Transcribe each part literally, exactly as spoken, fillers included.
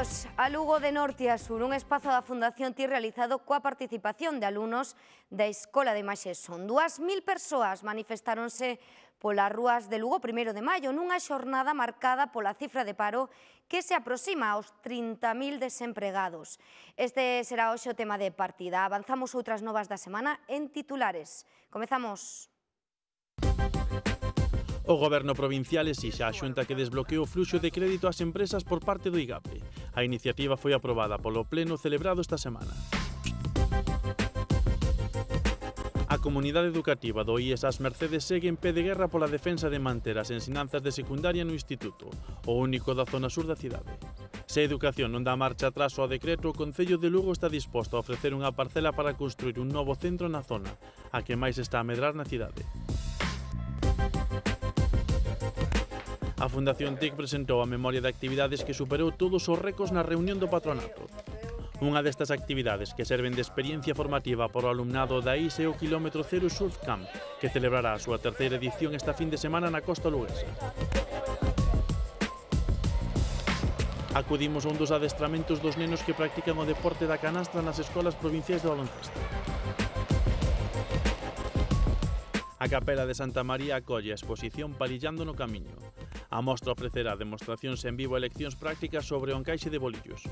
Benvidos a Lugo de Norte a Sur, un espazo da Fundación T I realizado coa participación de alumnos da Escola de Imaxe Son. Dúas mil persoas manifestáronse polas rúas de Lugo o primeiro de maio nunha xornada marcada pola cifra de paro que se aproxima aos trinta mil desempregados. Este será hoxe o tema de partida. Avanzamos outras novas da semana en titulares. Comezamos. O Goberno provincial exixe á Xunta que desbloquee o fluxo de crédito ás empresas por parte do IGAPE. A iniciativa foi aprobada polo pleno celebrado esta semana. A comunidade educativa do I E S As Mercedes segue en pé de guerra pola defensa de manter as ensinanzas de secundaria no instituto, o único da zona sur da cidade. Se a educación non dá marcha atrás ao decreto, o Concello de Lugo está disposto a ofrecer unha parcela para construir un novo centro na zona, a que máis está a medrar na cidade. A Fundación T I C presentou a memoria de actividades que superou todos os récords na reunión do patronato. Unha destas actividades que serven de experiencia formativa para o alumnado da I S E o Kilómetro Cero Surf Camp, que celebrará a súa terceira edición esta fin de semana na costa luguesa. Acudimos a un dos adestramentos dos nenos que practican o deporte da canastra nas escolas provinciais de baloncesto. A Capela de Santa María acolle a exposición Parillando no Camiño. A mostra ofrecerá demostracións en vivo e leccións prácticas sobre o encaixe de bolillos.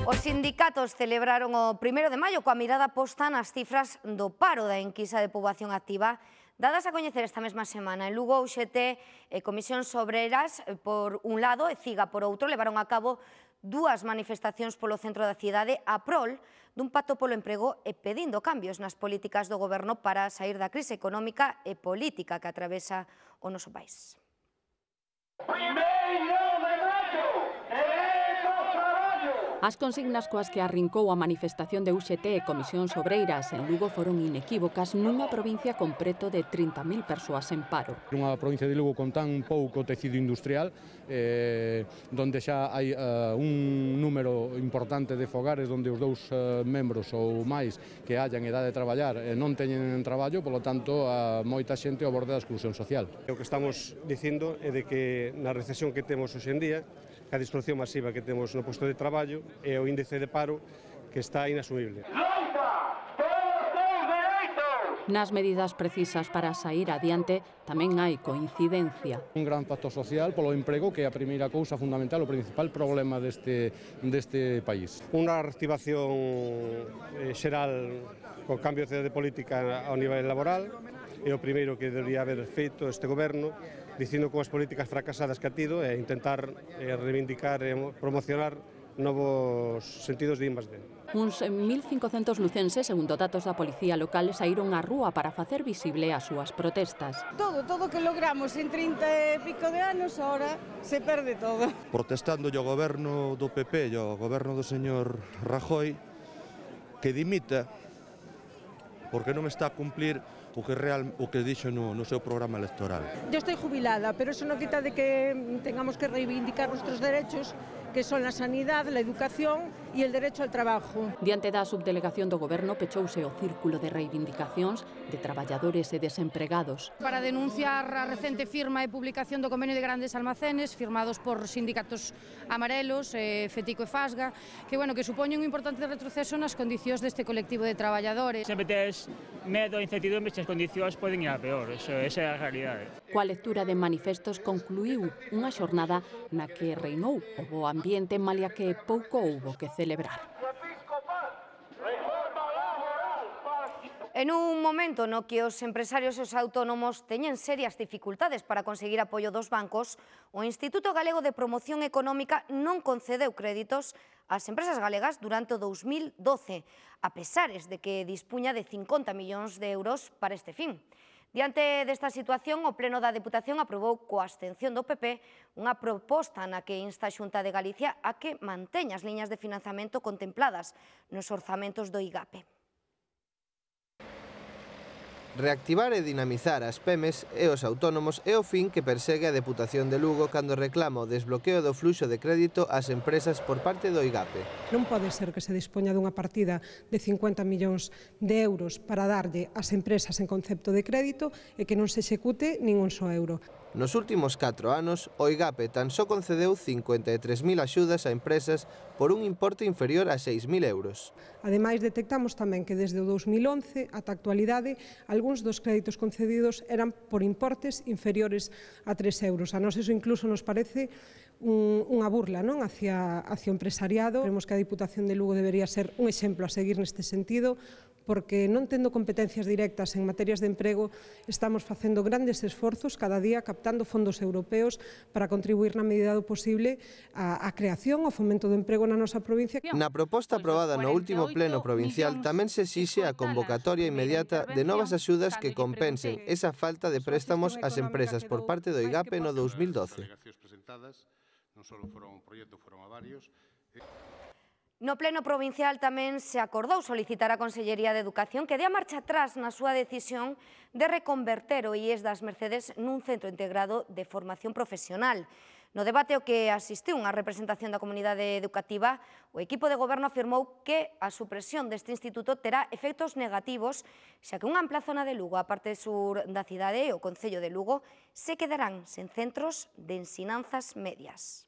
Os sindicatos celebraron o primeiro de maio coa mirada posta nas cifras do paro da enquisa de poboación activa dadas a coñecer esta mesma semana. En Lugo, U X T e Comisións Obreras, por un lado, e CIGA, por outro, levaron a cabo dúas manifestacións polo centro da cidade a prol dun pacto polo emprego e pedindo cambios nas políticas do goberno para sair da crise económica e política que atravesa o noso país. As consignas coas que arrincou a manifestación de U X T e Comisións Obreiras en Lugo foron inequívocas nunha provincia con preto de trinta mil persoas en paro. Unha provincia de Lugo con tan pouco tecido industrial, eh, donde xa hai eh, un número importante de fogares onde os dous eh, membros ou máis que hallan edade de traballar eh, non teñen traballo, polo tanto, a moita xente ao borde da exclusión social. O que estamos dicindo é de que na recesión que temos hoxe en día, a destrucción masiva que temos no posto de traballo e o índice de paro que está inasumible. Nas medidas precisas para sair adiante tamén hai coincidencia. Un gran pacto social polo emprego, que é a primeira cousa fundamental, o principal problema deste, deste país. Unha reactivación eh, xeral co cambio de política ao nivel laboral é o primeiro que debería haber feito este goberno, dicindo con as políticas fracasadas que ha tido e intentar eh, reivindicar e promocionar novos sentidos de I más D. Uns mil cincocentos lucenses, segundo datos da Policía Local, saíron á rúa para facer visible as súas protestas. Todo, todo que logramos en trinta e pico de anos, ahora se perde todo. Protestando ao goberno do P P e ao goberno do señor Rajoy que dimita porque non está a cumplir o que real o que dixo no, no seu programa electoral. Yo estoy jubilada, pero eso non quita de que tengamos que reivindicar nuestros derechos, que son la sanidad, la educación y el derecho al trabajo. Diante da subdelegación do goberno pechouse o círculo de reivindicacións de traballadores e desempregados. Para denunciar a recente firma e publicación do convenio de grandes almacenes firmados por sindicatos amarelos, eh, Fetico e Fasga, que, bueno, que supoñen un importante retroceso nas condicións deste colectivo de traballadores. Sempre tes medo e incertidumbre se as condicións poden ir a peor, eso, esa é a realidade. Coa lectura de manifestos concluíu unha xornada na que reinou o bo ambiente, malia que pouco houbo que celebrar. En un momento no que os empresarios e os autónomos teñen serias dificultades para conseguir apoio dos bancos, o Instituto Galego de Promoción Económica non concedeu créditos ás empresas galegas durante o dous mil doce, a pesares de que dispuña de cincuenta millóns de euros para este fin. Diante desta situación, o Pleno da Deputación aprobou coa abstención do P P unha proposta na que insta a Xunta de Galicia a que manteña as liñas de financiamento contempladas nos orzamentos do IGAPE. Reactivar e dinamizar as pemes e os autónomos é o fin que persegue a Deputación de Lugo cando reclama o desbloqueo do fluxo de crédito ás empresas por parte do IGAPE. Non pode ser que se dispoña dunha partida de cincuenta millóns de euros para darlle ás empresas en concepto de crédito e que non se execute nin un só euro. Nos últimos catro anos, o IGAPE tan só concedeu cincuenta e tres mil axudas a empresas por un importe inferior a seis mil euros. Ademais, detectamos tamén que desde o dous mil once ata a actualidade, algúns dos créditos concedidos eran por importes inferiores a tres euros. A nós eso incluso nos parece un, unha burla, non, hacia, hacia o empresariado. Creemos que a Diputación de Lugo debería ser un exemplo a seguir neste sentido, porque non tendo competencias directas en materias de emprego, estamos facendo grandes esforzos cada día captando fondos europeos para contribuir na medida do posible á, á creación, ao fomento do emprego na nosa provincia. Na proposta aprobada no último pleno provincial tamén se exixe a convocatoria inmediata de novas axudas que compensen esa falta de préstamos ás empresas por parte do IGAPE no dous mil doce. No pleno provincial tamén se acordou solicitar á Consellería de Educación que dea marcha atrás na súa decisión de reconverter o I E S das Mercedes nun centro integrado de formación profesional. No debate ao que asistiu unha representación da comunidade educativa, o equipo de goberno afirmou que a supresión deste instituto terá efectos negativos, xa que unha ampla zona de Lugo, a parte sur da cidade e o Concello de Lugo, se quedarán sen centros de ensinanzas medias.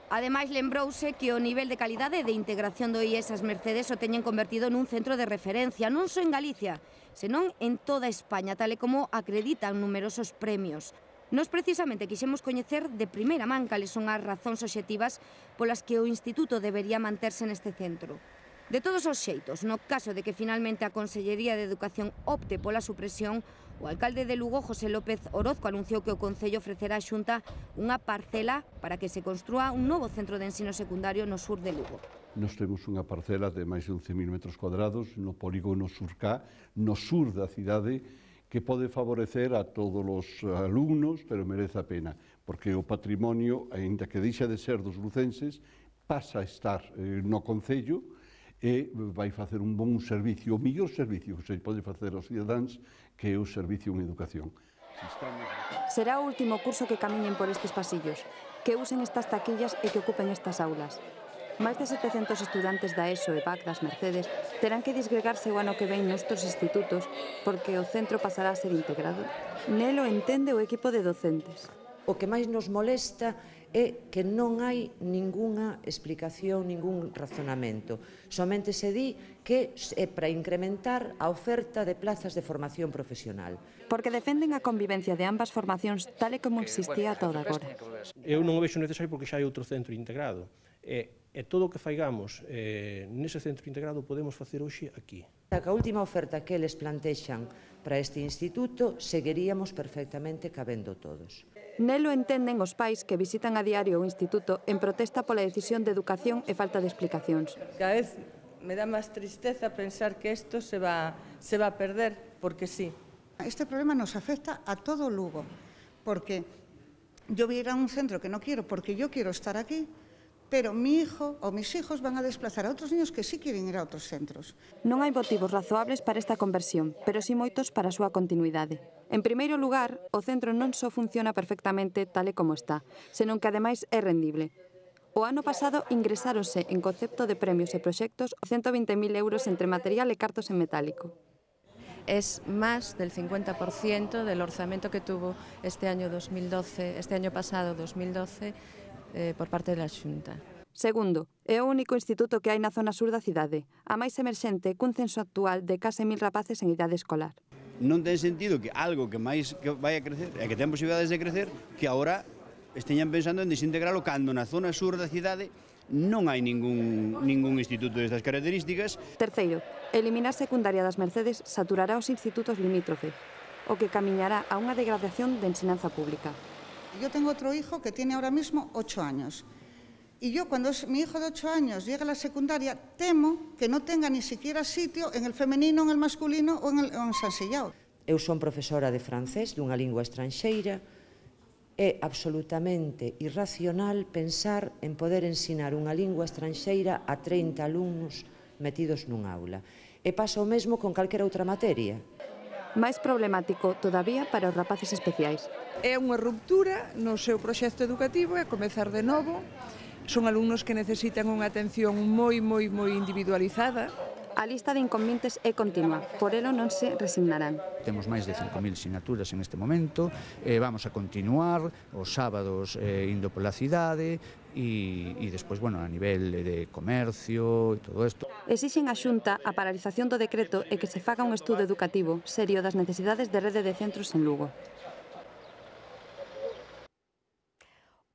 Ademais, lembrouse que o nivel de calidade e de integración do I E S as Mercedes o teñen convertido nun centro de referencia, non só en Galicia, senón en toda España, tal e como acreditan numerosos premios. Nos precisamente quixemos coñecer de primeira man cales son as razóns obxectivas polas que o Instituto debería manterse neste centro. De todos os xeitos, no caso de que finalmente a Consellería de Educación opte pola supresión, o alcalde de Lugo, José López Orozco, anunciou que o Concello ofrecerá á Xunta unha parcela para que se construa un novo centro de ensino secundario no sur de Lugo. Nos temos unha parcela de máis de once mil metros cuadrados no polígono Surcá, no sur da cidade, que pode favorecer a todos os alumnos, pero merece a pena, porque o patrimonio, aínda que deixa de ser dos lucenses, pasa a estar eh, no Concello, e vai facer un bon servicio, o mellor servicio que se pode facer aos cidadáns, que é o servicio en educación. Será o último curso que camiñen por estes pasillos, que usen estas taquillas e que ocupen estas aulas. Máis de setecentos estudantes da ESO e B A C das Mercedes terán que disgregarse o ano que ven noutros institutos porque o centro pasará a ser integrado. Nelo entende o equipo de docentes. O que máis nos molesta é que non hai ningunha explicación, ningún razonamento. Somente se di que é para incrementar a oferta de plazas de formación profesional. Porque defenden a convivencia de ambas formacións tal e como existía ata agora. Eu non o vexo necesario porque xa hai outro centro integrado. E, e todo o que faigamos eh, nese centro integrado podemos facer hoxe aquí. A última oferta que eles plantexan para este instituto seguiríamos perfectamente cabendo todos. Nelo entenden os pais que visitan a diario o instituto en protesta pola decisión de educación e falta de explicacións. Cada vez me dá máis tristeza pensar que isto se va, se va a perder, porque sí. Este problema nos afecta a todo Lugo, porque yo voy a ir a un centro que no quiero porque yo quiero estar aquí, pero mi hijo ou mis hijos van a desplazar a outros niños que sí quieren ir a outros centros. Non hai motivos razoables para esta conversión, pero sí moitos para a súa continuidade. En primeiro lugar, o centro non só funciona perfectamente tal e como está, senón que ademais é rendible. O ano pasado ingresáronse en concepto de premios e proxectos ciento vinte mil euros entre material e cartos en metálico. Es más del cincuenta por ciento del orzamento que tuvo este año dos mil doce, este año pasado dos mil doce, eh, por parte da Xunta. Segundo, é o único instituto que hai na zona sur da cidade, a máis emerxente cun censo actual de case mil rapaces en idade escolar. Non ten sentido que algo que máis que vai a crecer, e que ten posibilidades de crecer, que agora esteñan pensando en desintegralo cando na zona sur da cidade non hai ningún, ningún instituto destas características. Terceiro, eliminar secundaria das Mercedes saturará os institutos limítrofe, o que camiñará a unha degradación de ensinanza pública. Yo tengo otro hijo que tiene ahora mismo ocho años. Y yo, cuando mi hijo de ocho años llega a la secundaria, temo que no tenga ni siquiera sitio en el femenino, en el masculino o en, el, en San Sillao. Eu son profesora de francés dunha lingua estranxeira. É absolutamente irracional pensar en poder ensinar unha lingua estranxeira a trinta alumnos metidos nun aula. E pasa o mesmo con calquera outra materia. Máis problemático todavía para os rapaces especiais. É unha ruptura no seu proxecto educativo e comezar de novo. Son alumnos que necesitan unha atención moi, moi, moi individualizada A lista de inconvenientes é continua, por elo non se resignarán. Temos máis de cinco mil sinaturas en este momento, eh, vamos a continuar os sábados eh, indo pola cidade e, e despois, bueno, a nivel de comercio e todo isto. Exixen a Xunta a paralización do decreto e que se faga un estudo educativo serio das necesidades de rede de centros en Lugo.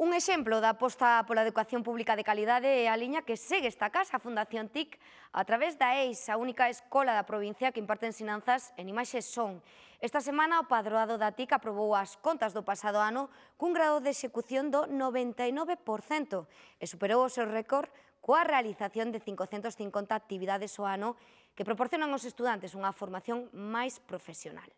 Un exemplo da aposta pola educación pública de calidade é a liña que segue esta casa, a Fundación T I C, a través da E I S, a única escola da provincia que imparte ensinanzas en imaxe e son. Esta semana o padroado da T I C aprobou as contas do pasado ano cun grado de execución do noventa e nove por cento e superou o seu récord coa realización de cincocentas e cincuenta actividades ao ano que proporcionan aos estudantes unha formación máis profesional.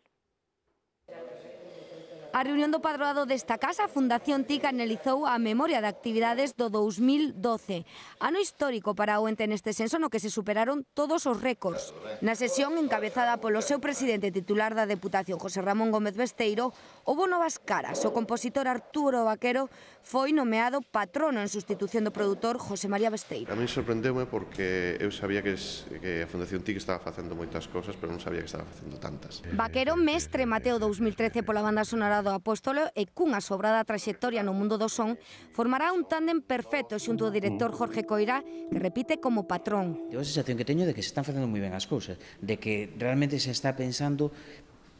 A reunión do padroado desta casa, a Fundación T I C analizou a memoria de actividades do dous mil doce, ano histórico para o ente neste senso no que se superaron todos os récords. Na sesión, encabezada polo seu presidente titular da Deputación, José Ramón Gómez Besteiro, houbo novas caras. O compositor Arturo Vaquero foi nomeado patrono en sustitución do produtor José María Besteiro. A mí sorprendeume porque eu sabía que, es, que a Fundación T I C estaba facendo moitas cosas, pero non sabía que estaba facendo tantas. Vaquero, mestre Mateo dous mil trece pola banda sonora do Apóstolo e cunha sobrada traxectoria no mundo do son, formará un tándem perfecto xunto ao director Jorge Coira, que repite como patrón. Eu a sensación que teño de que se están facendo moi ben as cousas, de que realmente se está pensando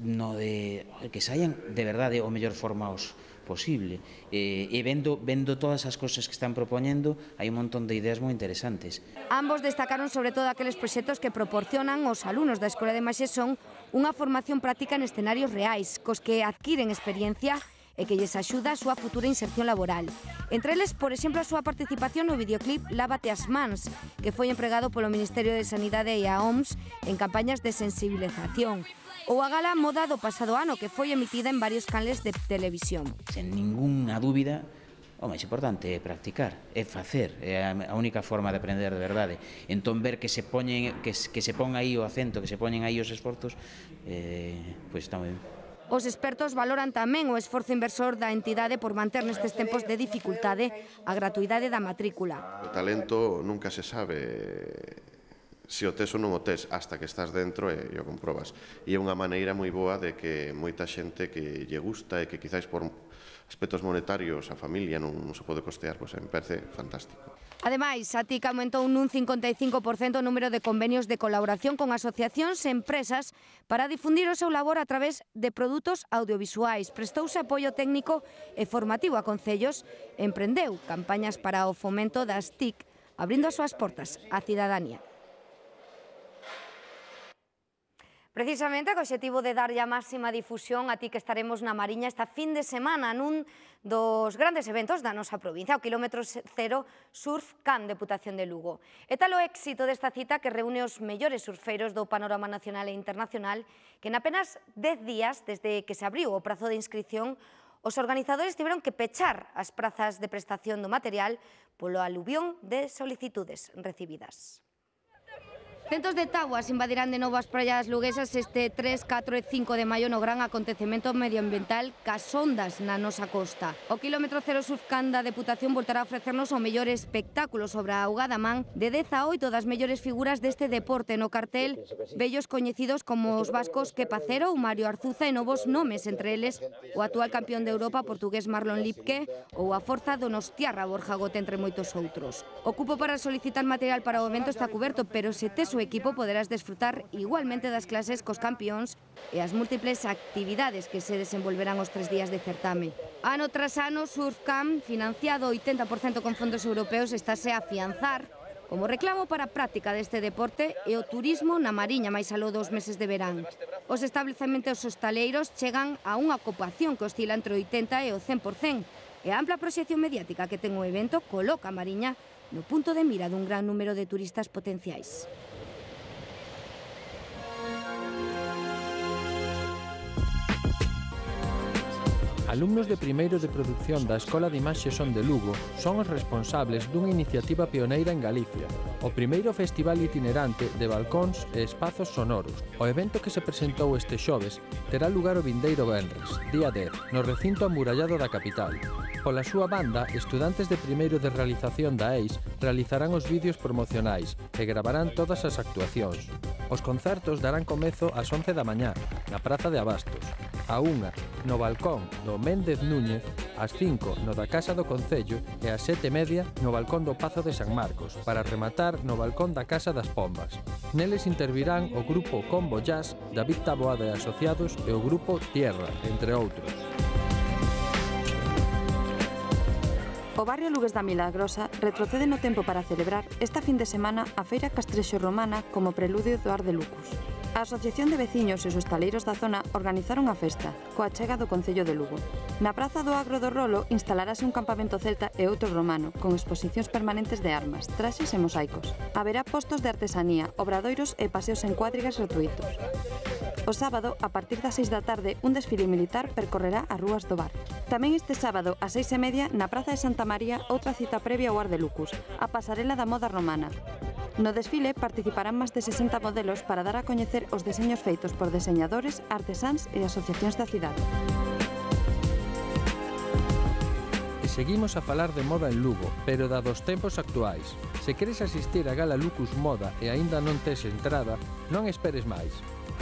no de que saian de verdade o mellor formados posible e, e vendo, vendo todas as cousas que están propoñendo hai un montón de ideas moi interesantes. Ambos destacaron sobre todo aqueles proxectos que proporcionan aos alumnos da Escola de Imaxe e Son unha formación práctica en escenarios reais, cos que adquiren experiencia e que lles axuda a súa futura inserción laboral. Entre eles, por exemplo, a súa participación no videoclip Lávate as mans, que foi empregado polo Ministerio de Sanidade e a O M S en campañas de sensibilización, ou a gala Moda do pasado ano, que foi emitida en varios canles de televisión. Sen ninguna dúbida, o máis importante é practicar, é facer, é a única forma de aprender de verdade. Entón, ver que se poñen, que, que se pon aí o acento, que se poñen aí os esforzos, eh, pois está moi ben. Os expertos valoran tamén o esforzo inversor da entidade por manter nestes tempos de dificultade a gratuidade da matrícula. O talento nunca se sabe se o tes ou non o tes, hasta que estás dentro e o comprobas. E é unha maneira moi boa de que moita xente que lle gusta e que quizáis por aspectos monetarios a familia non se pode costear, pois me parece fantástico. Ademais, a T I C aumentou nun cincuenta e cinco por cento o número de convenios de colaboración con asociacións e empresas para difundir o seu labor a través de produtos audiovisuais. Prestouse apoio técnico e formativo a concellos e emprendeu campañas para o fomento das T I C, abrindo as súas portas á cidadanía. Precisamente, co obxectivo de darlle a máxima difusión a ti que estaremos na Mariña esta fin de semana nun dos grandes eventos da nosa provincia, o Kilómetro Cero Surf Camp Deputación de Lugo. E tal o éxito desta cita que reúne os mellores surfeiros do panorama nacional e internacional que en apenas dez días, desde que se abriu o prazo de inscripción, os organizadores tiveron que pechar as prazas de prestación do material polo aluvión de solicitudes recibidas. Centos de tabuas invadirán de novo as praias luguesas este tres, catro e cinco de maio no gran acontecemento medioambiental Cas Ondas na nosa costa. O Kilómetro Cero Surf Camp da Deputación voltará a ofrecernos o mellor espectáculo sobre a augada man de dez a oito das mellores figuras deste deporte no cartel, vellos coñecidos como os vascos Kepa Cero ou Mario Arzuza e novos nomes, entre eles o actual campeón de Europa portugués Marlon Lipke ou a forza donostiarra Borja Gote, entre moitos outros. O cupo para solicitar material para o evento está cuberto, pero se tes o equipo poderás desfrutar igualmente das clases cos campións e as múltiples actividades que se desenvolverán os tres días de certame. Ano tras ano, Surf Camp, financiado oitenta por cento con fondos europeos, estáse a afianzar como reclamo para a práctica deste deporte e o turismo na Mariña máis aló dos meses de verán. Os establecementos hostaleiros chegan a unha ocupación que oscila entre o oitenta e o cen por cento e a ampla proxección mediática que ten o evento coloca a Mariña no punto de mira dun gran número de turistas potenciais. A Alumnos de primeiro de produción da Escola de Imaxe Son de Lugo son os responsables dunha iniciativa pioneira en Galicia, o primeiro festival itinerante de balcóns e espazos sonoros. O evento que se presentou este xoves terá lugar o vindeiro venres, día dez, no recinto amurallado da capital. Pola súa banda, estudantes de primeiro de realización da E I S realizarán os vídeos promocionais e gravarán todas as actuacións. Os concertos darán comezo ás once da mañá, na Praza de Abastos, a unha no balcón do Méndez Núñez, ás cinco no da Casa do Concello e ás sete e media no balcón do Pazo de San Marcos, para rematar no balcón da Casa das Pombas. Neles intervirán o grupo Combo Jazz, David Taboada e Asociados e o grupo Tierra, entre outros. O barrio Lugues da Milagrosa retrocede no tempo para celebrar esta fin de semana a Feira Castrexo Romana como preludio do Ar de Lucus. A Asociación de Veciños e os hostaleiros da zona organizaron a festa, coa chega do Concello de Lugo. Na Praza do Agro do Rolo instalarase un campamento celta e outro romano, con exposicións permanentes de armas, traxes e mosaicos. Haberá postos de artesanía, obradoiros e paseos en cuadrigas gratuitos. O sábado, a partir das seis da tarde, un desfile militar percorrerá as rúas do barrio. Tamén este sábado, ás seis e media, na Praza de Santa María, outra cita previa ao Ar de Lucus, a pasarela da moda romana. No desfile participarán máis de sesenta modelos para dar a coñecer os deseños feitos por deseñadores, artesáns e asociacións da cidade. E seguimos a falar de moda en Lugo, pero da dos tempos actuais. Se queres asistir a Gala Lucus Moda e aínda non tes entrada, non esperes máis.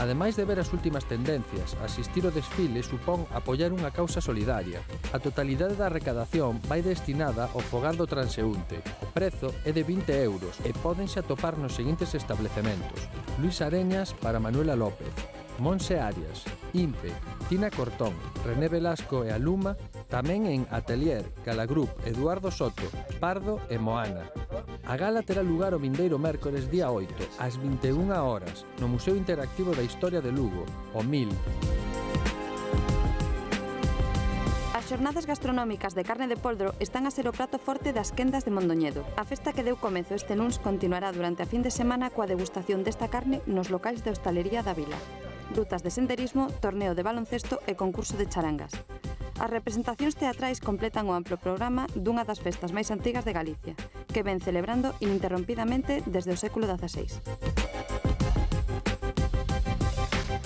Ademais de ver as últimas tendencias, asistir ao desfile supón apoiar unha causa solidaria. A totalidade da recadación vai destinada ao fogar do transeúnte. O prezo é de vinte euros e pódense atopar nos seguintes establecementos: Luis Areñas para Manuela López, Monse Arias, Impe, Tina Cortón, René Velasco e Aluma, tamén en Atelier, Calagrup, Eduardo Soto, Pardo e Moana. A gala terá lugar o vindeiro mércores día oito, ás vinte e unha horas, no Museo Interactivo da Historia de Lugo, o Mil. As xornadas gastronómicas de carne de poldro están a ser o prato forte das quendas de Mondoñedo. A festa que deu comezo este luns continuará durante a fin de semana coa degustación desta carne nos locais de hostalería da vila. Rutas de senderismo, torneo de baloncesto e concurso de charangas. As representacións teatrais completan o amplo programa dunha das festas máis antigas de Galicia, que ven celebrando ininterrompidamente desde o século dezaseis.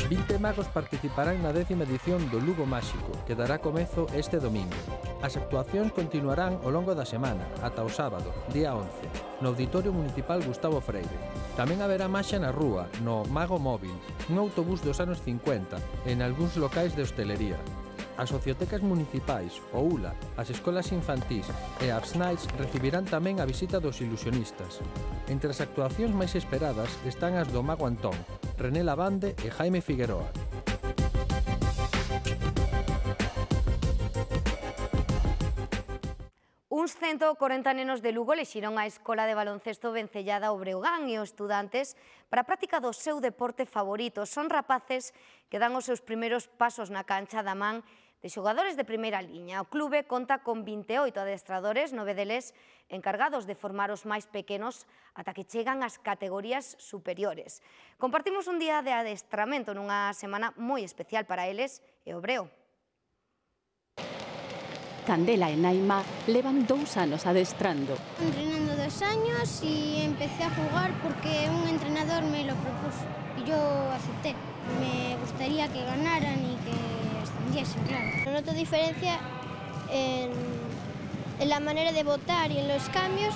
vinte magos participarán na décima edición do Lugo Máxico, que dará comezo este domingo. As actuacións continuarán ao longo da semana, ata o sábado, día once, no Auditorio Municipal Gustavo Freire. Tamén haberá maxia na rúa, no Mago Móvil, un autobús dos anos cincuenta e en algúns locais de hostelería. As sociotecas municipais, o U L A, as escolas infantís e a Absnights recibirán tamén a visita dos ilusionistas. Entre as actuacións máis esperadas están as do Mago Antón, René Lavande e Jaime Figueroa. Uns cento e corenta nenos de Lugo lexiron a Escola de Baloncesto Vencellada ao Breogán e os estudantes para a práctica do seu deporte favorito. Son rapaces que dan os seus primeiros pasos na cancha da man de xogadores de primeira liña. O clube conta con vinte e oito adestradores, nove deles encargados de formar os máis pequenos ata que chegan ás categorías superiores. Compartimos un día de adestramento nunha semana moi especial para eles e o Breo. Candela e Naima levan dous anos adestrando. Entrenando dos años y empecé a jugar porque un entrenador me lo propuso y yo acepté. Me gustaría que ganaran y que ascendiesen, claro. Noto diferencia en, en la manera de votar y en los cambios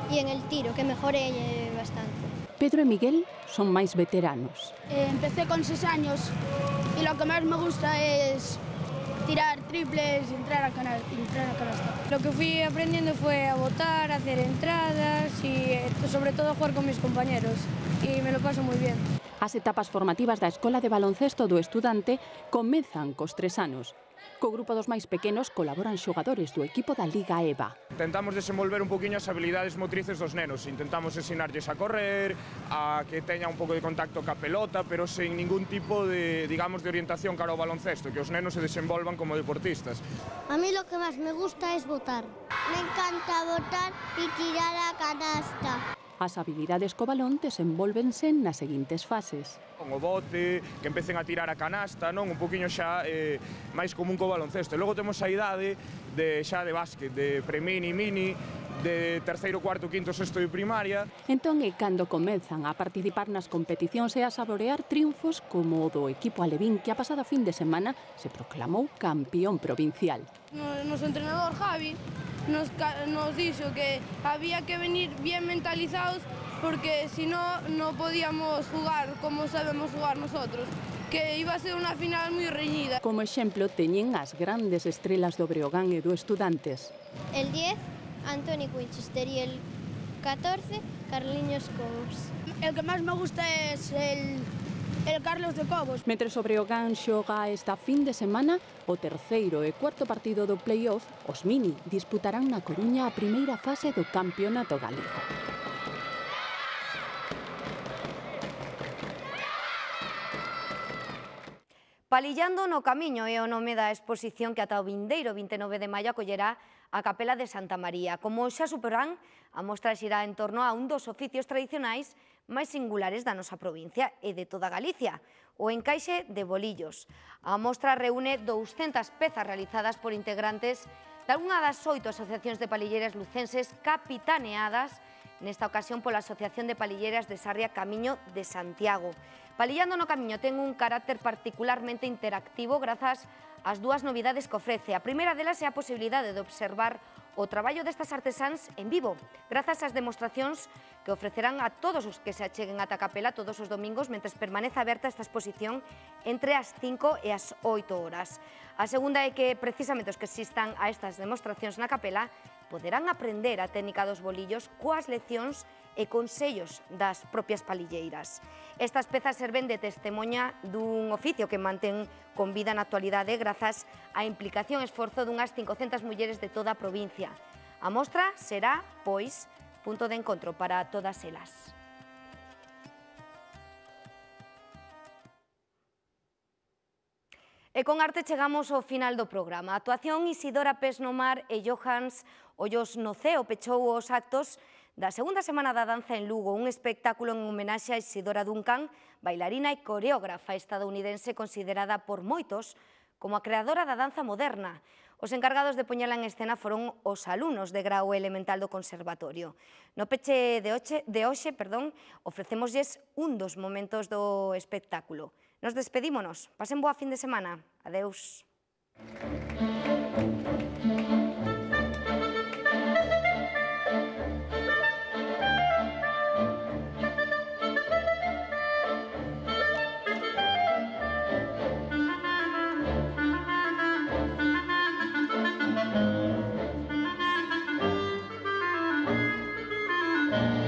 y en el tiro, que mejoré bastante. Pedro e Miguel son máis veteranos. Eh, empecé con seis años y lo que más me gusta es tirar triples y entrar a, canal, entrar a canasta. Lo que fui aprendiendo fue a votar, a hacer entradas y sobre todo a jugar con mis compañeros y me lo paso muy bien. As etapas formativas da Escola de Baloncesto do Estudante comezan cos tres anos. Co grupo dos máis pequenos colaboran xogadores do equipo da Liga EVA. Intentamos desenvolver un poquinho as habilidades motrices dos nenos. Intentamos ensinarlles a correr, a que teña un pouco de contacto ca pelota, pero sen ningún tipo de, digamos, de orientación cara ao baloncesto, que os nenos se desenvolvan como deportistas. A mí lo que más me gusta es votar. Me encanta votar y tirar a canasta. As habilidades co balón desenvólvense nas seguintes fases. O bote, que empecen a tirar a canasta, non? Un poquinho xa eh, máis común co baloncesto. E logo temos a idade de xa de básquet, de pre-mini, mini, de terceiro, cuarto, quinto, sexto de primaria. Entón é cando comezan a participar nas competicións e a saborear triunfos como o do equipo alevín que a pasada fin de semana se proclamou campeón provincial. O noso entrenador Javi nos, nos dixo que había que venir bien mentalizados porque si no, no podíamos jugar como sabemos jugar nosotros, que iba a ser unha final moi reñida. Como exemplo teñen as grandes estrelas do Breogán e do Estudantes. El diez, Antoni Winchester, y el catorce, Carliños Cobos. El que máis me gusta es el... el Carlos de Cobos. Mentre o Breogán xoga esta fin de semana, o terceiro e cuarto partido do play-off, os Mini disputarán na Coruña a primeira fase do campeonato galego. Palillando no camiño é o nome da exposición que ata o vindeiro vinte e nove de maio acollerá a Capela de Santa María. Como xa superán, a mostra xirá en torno a un dos oficios tradicionais máis singulares da nosa provincia e de toda Galicia, o encaixe de bolillos. A mostra reúne douscentas pezas realizadas por integrantes de algunha das oito asociacións de palilleras lucenses capitaneadas nesta ocasión pola Asociación de Palilleras de Sarria Camiño de Santiago. Palillando no camiño ten un carácter particularmente interactivo grazas ás dúas novidades que ofrece. A primeira delas é a posibilidade de observar o traballo destas artesáns en vivo, grazas ás demostracións que ofrecerán a todos os que se acheguen ata a capela todos os domingos mentres permanece aberta esta exposición entre as cinco e as oito horas. A segunda é que precisamente os que asistan a estas demostracións na capela poderán aprender a técnica dos bolillos coas leccións e consellos das propias palilleiras. Estas pezas serven de testemunha dun oficio que mantén con vida na actualidade grazas á implicación e esforzo dunhas cincocentas mulleres de toda a provincia. A mostra será, pois, punto de encontro para todas elas. E con arte chegamos ao final do programa. A actuación Isidora Pes no Mar e Johans Ollos no Ceo pechou os actos da segunda semana da danza en Lugo, un espectáculo en homenaxe a Isidora Duncan, bailarina e coreógrafa estadounidense considerada por moitos como a creadora da danza moderna. Os encargados de poñela en escena foron os alumnos de grau elemental do Conservatorio. No peche de hoxe, de hoxe perdón, ofrecémoslles un dos momentos do espectáculo. Nos despedímonos. Pasen boa fin de semana. Adeus. Thank you.